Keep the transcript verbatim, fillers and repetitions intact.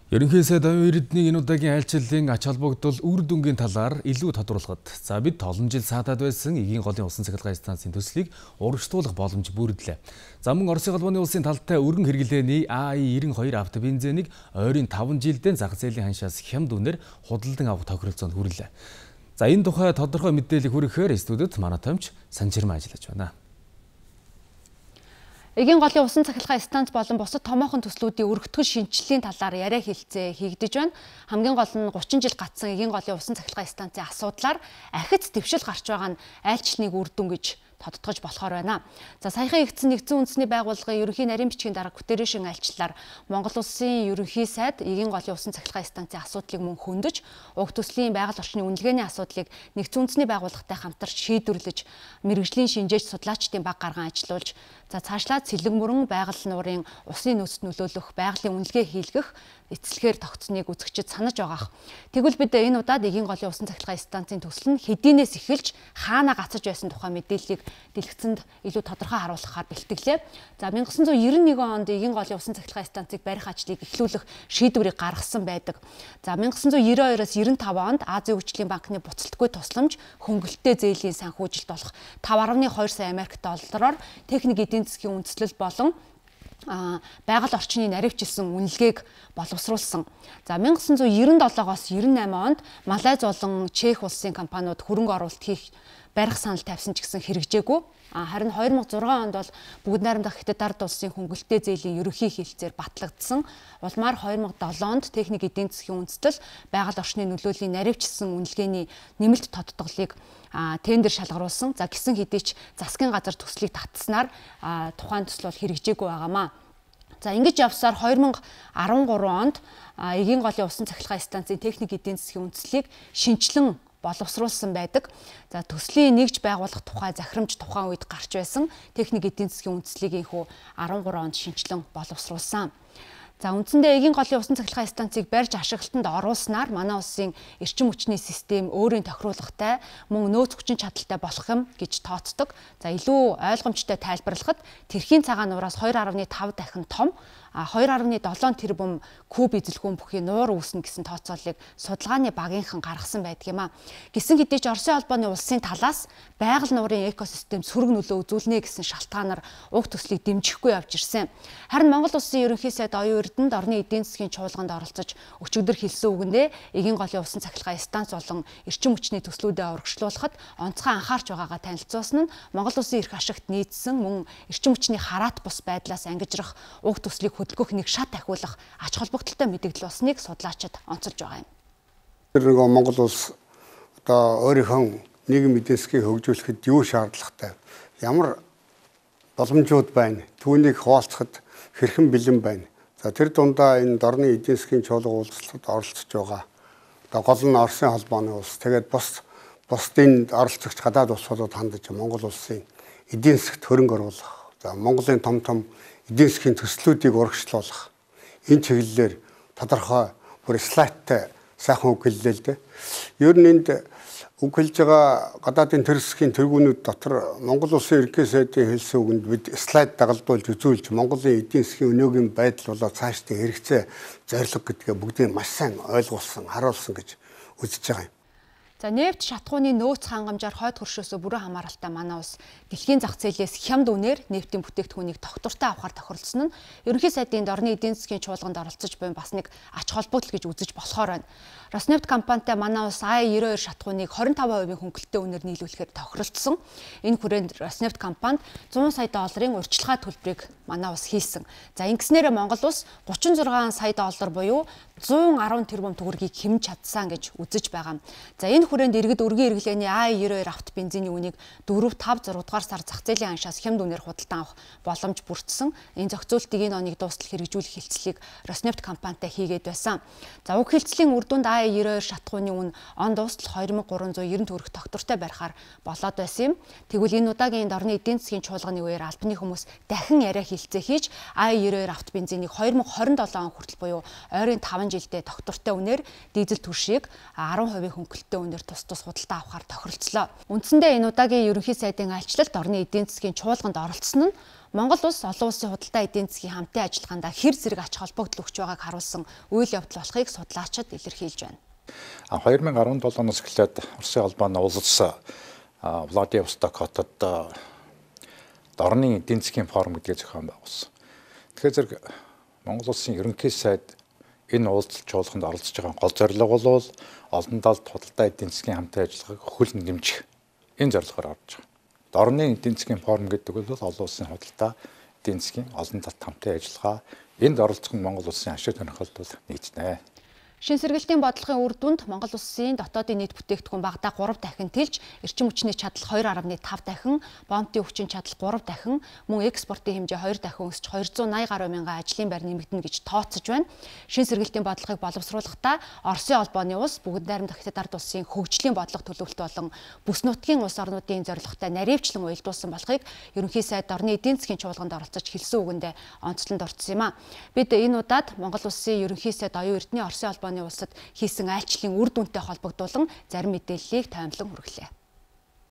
Ерөнхий сайд оюун эрдэнийн энэ удаагийн айлчлалын ач холбогдол үр дүнгийн талаар илүү тодруулахад за бид олон жил саатаад байсан Эгийн голын усан цахилгаан станцын төслийг урагшлуулах боломж бүрдлээ. За мөн Оросын холбооны улсын талтай өргөн хэрэглээний А И девяносто two автобензинийг ойрын таван жилдээ зах зээлийн ханшаас хямд үнээр худалдан авах тохиролцоонд хүрлээ. За энэ тухай тодорхой мэдээлэл хүрэхээр студид манай томч Санжирмаа ажиллаж байна. Эгийн голын усан цахилгаан станц болон бусад томоохон төслүүдийн өргөтгөл шинжилгээний талаар яриа хэлцээ хийгдэж байна. Хамгийн гол нь гучин жил гацсан Эгийн голын усан цахилгаан станцын асуудлаар ахиц дэвшил гарч байгаа нь айлчлалыг үр дүн гэж тодтогч болохоор байна. За саяхан игдсэн нэгдсэн үндэсний байгууллагын ерөнхий нарийн бичгийн дарга Гутерришийн айлчлалаар Монгол улсын ерөнхий сайд Эгийн голын усан цахилгаан станцын асуудлыг мөн хөндөж, уг төслийн байгаль орчны үнэлгээний асуудлыг нэгдсэн үндэсний байгууллагатай хамтарч шийдвэрлэж, мэрэгжлийн шинжээч судлаачдын баг гаргаан ажиллуулж, за цаашлаад цэлэг мөрөн байгаль нуурын усын нөөцт нөлөөлөх байгалийн үнэлгээ хийлгэх эцэлгээр тогтсныг үзэгчид санаж байгаах. Тэгвэл бид энэ удаад Эгийн голын усан цахилгаан станцын төсөл нь хэдийнээс эхэлж хаана гацаж байсан тухай мэдээллийг дэлгэцэнд илүү тодорхой харуулахаар бэлтгэлээ. За 천구 ninety one онд Эгийн голын усан цахилгаан станцыг барих ажлыг эхлүүлэх шийдвэрийг гаргасан байдаг. За 천구 ninety-two-оос ninety-five онд Азийн хөгжлийн банкны буцалтгүй тусламж хөнгөлөлттэй зээлийн санхүүжилт болох five point two сая Америк доллараар техник эдийн засгийн үндэслэл болон байгаль орчны наривчилсан үнэлгээг боловсруулсан. За 천구 ninety-seven-оос ninety-eight онд Малайз болон Чех улсын компаниуд хөрөнгө оруулалт хийх барих санал тавьсан ч гэсэн хэрэгжээгүй. Харин two thousand six онд бол бүгд найрамдах Хятад ард улсын хөнгөлөлттэй зээлийн ерөнхий хэлэлцээр батлагдсан. Улмаар two thousand seven онд техник эдийн засгийн үндэслэл байгаль орчны нөлөөллийн наривчилсан үнэлгээний нэмэлт тодтголыг тендер шалгаруулсан. За гисэн хэдий ч засгийн газар төслийг татснаар тухайн төсөл бол хэрэгжээгүй байгаамаа. За ингэж явсаар two thousand thirteen онд Эгийн голын усан цахилгаан станцын техник эдийн засгийн үндэслэлийг шинжилэн боловсруулсан байдаг. За төслийн нэгж байгуулах тухай захирамж тухайн үед гарч байсан техник эдийн засгийн үндэслэлийг инхүү thirteen онд шинжилэн боловсруулсан. За үндсэндээ Эгийн голын усан цахилгаан станцыг барьж ашиглалтанд оруулснаар манай улсын эрчим хүчний систем өөрийн тохируулгатай мөн нөөц хүчин чадалтай болох юм гэж тооцдог. За илүү ойлгомжтой тайлбарлахад тэрхийн цагаан нураас two point five дахин том two point seven тэрбум куб эзэлгүүн бүхий нуур үүснэ гэсэн тооцооллыг судалгааны багийнхан гаргасан байдаг юм а. Гисэн хэдий ч Оросын холбооны улсын талаас байгаль нуурын экосистем сөрөг нөлөө үзүүлнэ гэсэн шалтгаанаар уг төслийг дэмжихгүй явж ирсэн. Харин Монгол улсын ерөнхий сайд оюун эрдэнэд орны эдийн засгийн чуулганд оролцож өчигдөр хэлсэн үгэндээ Эгийн голын усан цахилгаан станц болон эрчим хүчний төслүүдэд урагшлуулахад онцгой анхаарч байгаагаа танилцуулсан нь Монгол улсын эрх ашигт нийцсэн мөн эрчим хүчний хараат бус байдлаас ангижрах уг төслийг хөдөлгөх нэг шат ахиулах ач холбогдолтой мэдээлэл болсныг судлаачид онцолж байгаа юм. Тэр нэг Монгол улс одоо өөрийнхөө нийгэм эдийн засгийг хөгжүүлэхэд юу шаардлагатай, ямар боломжууд байна, түүнийг хуваалцахад хэрхэн бэлэн байна. За тэр дундаа энэ дорны эдийн засгийн чуулга уулзалтад оролцож байгаа. Одоо гол нь Оросын холбооны улс, тэгээд бус бусдын оролцогч гадаад улсуудад хандаж Монгол улсын эдийн засгт хөрөнгө оруулах. За Монголын том том эдийн засгийн төслүүдийг урагшлуулах. Энэ чиглэлээр тодорхой бүр слайдтай сайхан үг хэллээ л дээ. Ер нь энд үг хэлж байгаа гадаадын төр засгийн тэргүүнүүд дотор Монгол улсын ерөнхий сайдын хэлсэн үгэнд бид слайд дагалдуулж үзүүлж Монголын эдийн засгийн өнөөгийн байдал болоо цаашдын хэрэгцээ зорилго гэдгээ бүгдийг маш сайн ойлгуулсан, харуулсан гэж үзэж байгаа юм. За нефт шатхууны нөөц хангамжаар хойд хөршөөсөө бүрэн хамааралтай манай улс дэлхийн зах зээлээс хямд үнээр нефтийн бүтээгдэхүүнийг тогтвортой авахар тохиролцсон нь ерөнхий сайдын орны эдийн засгийн чуулганд оролцож буй бас нэг ач холбогдол гэж үзэж болохоор байна. Роснефть компанитай манай улс А И ninety-two шатхууныг twenty-five percent хөнгөлөлттэй үнээр нийлүүлэхээр тохиролцсон. Энэ хүрээнд Роснефть компанид one hundred сая долларын урьдчилгаа төлбөрийг манай улс хийсэн. За ингэснээр Монгол улс thirty-six сая доллар буюу one hundred ten тэрбум төгрөгийг хэмж чадсан гэж үзэж байгаа. За энэ хүрээнд иргэд өргөн хэрэглээний А И ninety-two авто бензиний үнийг four, five, six дугаар сар зах зээлийн аншаас хямд үнээр худалдан авах боломж бүрдсэн. Энэ зохицуултыг энэ оныг дуустал хэрэгжүүлэх хэлцлийг Роснефть компанитай хийгээд байсан. За уг хэлцлийн үр дүнд А И ninety-two шатхууны үн он дуустал two thousand three hundred ninety төгрөг тогтвортой барихаар болоод байсан юм. Тэгвэл энэ удаагийн орны эдийн засгийн чуулганы үеэр албаны хүмүүс дахин яриа хэлцээ хийж А И ninety-two авто бензинийг twenty twenty-seven он хүртэл буюу ойрын five жилдээ тогтвортой үнээр дизель түлшийг ten percent хөнгөлөлттэй үнээр хэмжээгээр тус тус худалдаа авахар тохиролцлоо. Үндсэндээ энэ удаагийн ерөнхий сайдын альчлалд орны эдийн засгийн чуулганд оролцсон нь Монгол улс олон улсын худалдаа эдийн засгийн хамтын ажиллагаанд хэр зэрэг ач холбогдол өгч байгааг харуулсан үйл явдал болохыг судлаачид илэрхийлж байна. две тысячи десять оноос эхлээд Оросын холбооны улс Владивосток хотод орны эдийн засгийн форум гэдгийг зохион байгуулсан. Тэгэхээр зэрэг Монгол улсын ерөнхий сайд энэ уулзалт чуулганд оролцож байгаа гол зорилго бол олон талд худалдаа эдийн засгийн хамтын ажиллагааг хөлн дэмжих энэ зорилгоор орж байгаа. Орны эдийн засгийн форум гэдэг бол олон улсын худалдаа эдийн засгийн олон талт хамтын ажиллагаа энд оролцох нь Монгол улсын ашиг сонирхолд бол нийцнэ. Шин сэргэлтийн бодлогын үр дүнд Монгол улсын дотоодын нийт бүтээгдэхүүн багадаа гурав дахин тэлж, эрчим хүчний чадал хоёр гаруй тав дахин, бомбын хүчин чадал гурав дахин, мөн экспортын хэмжээ хоёр дахин өсч хоёр зуун наяа гаруй мянган ажлын байр нэмэгдэнэ гэж тооцож байна. Шин сэргэлтийн бодлогыг боловсруулахдаа Оросын холбооны улс, бүгд найрамдах Хятад ард улсын хөгжлийн бодлого төлөвлөлт болон бүс нутгийн улс орнуудын зорилготой наривчлан уялдуулсан болохыг ерөнхий сайд орны эдийн засгийн чуулганд оролцож хэлсэн үгэндээ онцлонд орсон юм а. Бид энэ удаад Монгол улсын ерөнхий сайд оюун эрдэнэ Оросын холбооны улсад хийсэн айлчлалын үр дүнтэй холбогдуулан зарим мэдээллийг таймлан хүргэлээ.